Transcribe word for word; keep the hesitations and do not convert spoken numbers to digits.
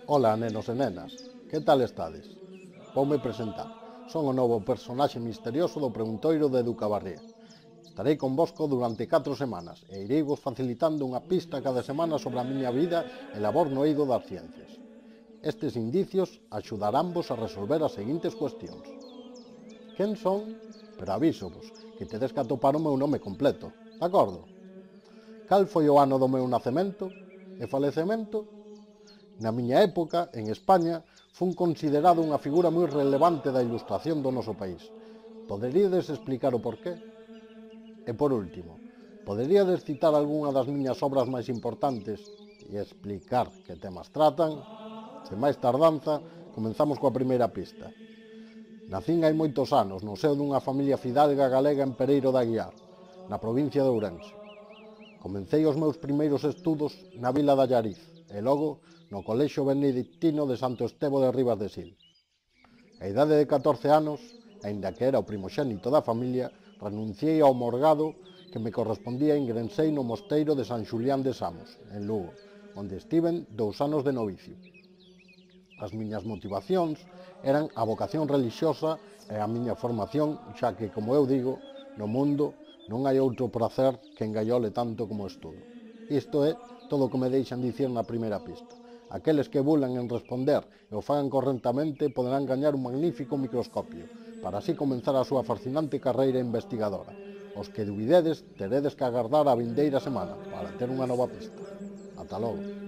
Ola, nenos e nenas, que tal estades? Voume presentar. Son o novo personaxe misterioso do preguntoiro de Educabarría. Estarei convosco durante catro semanas e irei vos facilitando unha pista cada semana sobre a miña vida e labor no eido das ciencias. Estes indicios axudaránvos a resolver as seguintes cuestións. Quen son? Pero avísovos que tedes que atopar o meu nome completo, de acordo? Cal foi o ano do meu nacemento e falecemento? Na miña época, en España, fun considerado unha figura moi relevante da ilustración do noso país. Poderíades explicar o porqué? E por último, poderíades citar algunha das miñas obras máis importantes e explicar que temas tratan? Sen máis tardanza, comenzamos coa primeira pista. Nacín hai moitos anos no seo dunha familia fidalga galega en Pereiro de Aguiar, na provincia de Ourense. Comecei os meus primeiros estudos na vila de Allariz e logo no Colexio Benedictino de Santo Estevo de Ribas de Sil. A idade de catorce anos, aínda que era o primoxénito da familia, renunciei ao morgado que me correspondía e ingrensei no mosteiro de San Xulián de Samos, en Lugo, onde estiven dous anos de novicio. As miñas motivacións eran a vocación relixiosa e a miña formación, xa que, como eu digo, no mundo non hai outro prazer que engaiole tanto como o estudo. Isto é todo o que me deixan dicir na primeira pista. Aqueles que bulan en responder e o fagan correctamente poderán gañar un magnífico microscopio, para así comenzar a súa fascinante carreira investigadora. Os que dubidedes teredes que agardar a vindeira semana para ter unha nova pista. Ata logo.